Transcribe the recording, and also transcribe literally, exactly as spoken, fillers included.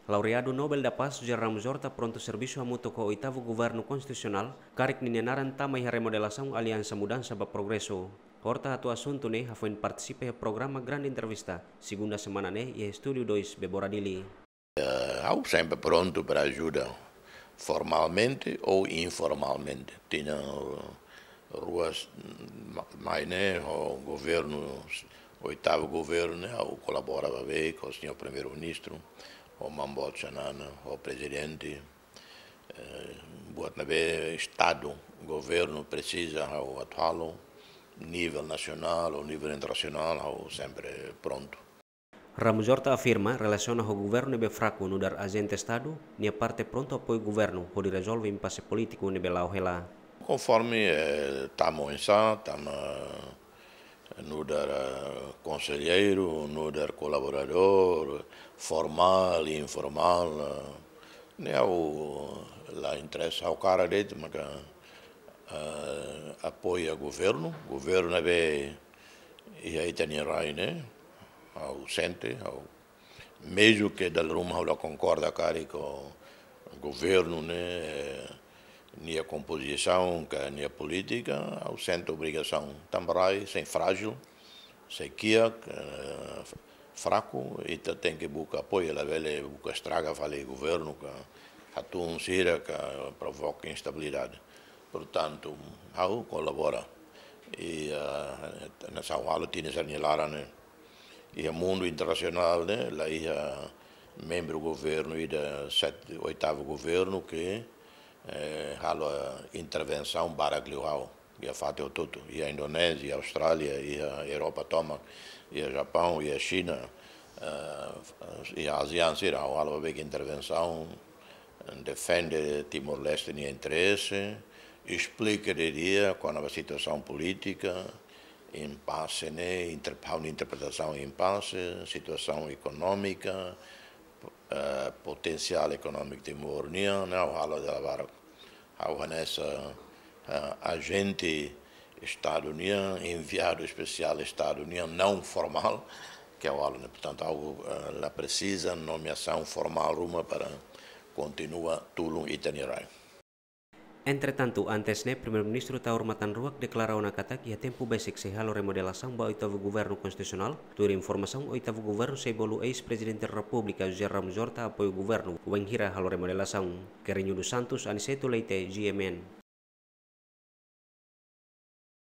Laureadu Nobel da Paz José Ramos Horta prontu servisu hamutuk ho oitavu governu konstitusionál, karik ninia naran tama iha remodelasaun Aliansa Mudansa ba Progresu. Horta atu asuntu ne'e hafoin partisipa iha programa Grande Entrevista, segunda semana ne'e iha Estúdiu dois Bebora Dili. Ha'u sempre prontu para ajuda, formalmente ou informalmente. Tinan ruas mai ne'e ho governu, oitavu governu ne'e, ha'u kolabora ba be ho señór Primeiru-Ministru, ho Mamboet Xanana, ho Prezidente. Buat ne'ebé Estadu, governu presiza, ha'u atu halo, nivel nasionál ou nivel internasionál, ha'u sempre prontu. Ramos Horta afirma relasiona ho governu ne'ebé fraku nu'udar ajente Estadu, nia parte prontu apoiu governu hodi rezolve impase polítiku ne'ebé la'o hela. Konforme tama oinsá, tama nu'udar konselleiru, nu'udar kolaboradór, formál, informál, ne'e ha'u la interesa, ha'u hakarak de'it maka apoia governu, governu ne'ebé iha ita-nia rai ne'e, ha'u sente, ha'u, mezmu ke dala ruma ha'u la konkorda karik ho governu ne'e, nia kompozisaun ka nia polítika, ha'u sente obrigasaun. Tanba rai sei frájil, sei kiak, fraku, ita tenke buka apoiu, labele buka estraga fali governu ka hatún sira ka provoka instabilidade. Portantu, ha'u kolabora. I hanesan ha'u halo tinan sira nia laran ne'e, iha mundu internasionál ne'e la iha membru governu ida, sete, oitavu governu ke halo intervensaun barak liu ha'u iha fatin hotu-hotu, iha Indonézia, Austrália, iha Europa tomak, iha Japaun, iha Xina, iha ASEAN sira, ha'u halo beibeik intervensaun, defende Timor-Leste nia interese, esplika didi'ak kona-ba situasaun polítika, impase ne'e, inter-, ha'u-nia interpretasaun impase, situasaun ekonómika, potensiál ekonómiku Timor nian, ne'e ha'u halo dala barak. Ha'u hanesan ajente Estadu nian, enviadu espesiál Estadu nian, não formál, ke ha'u halo ne'e. Portantu, ha'u la presiza nomeasaun formál ruma para kontinua tulun ita-nia rai. Entretantu, antes ne'e, Primeiru-Ministru Taur Matan Ruak deklara ona katak iha tempu besik sei halo remodelasaun ba oitavu governu konstitusionál, tuir informasaun oitavu governu sei bolu eis-Prezidente Repúblika José Ramos Horta apoiu governu wainhira halo remodelasaun. Querinho dos Santos, Aniceto Leite, G M N.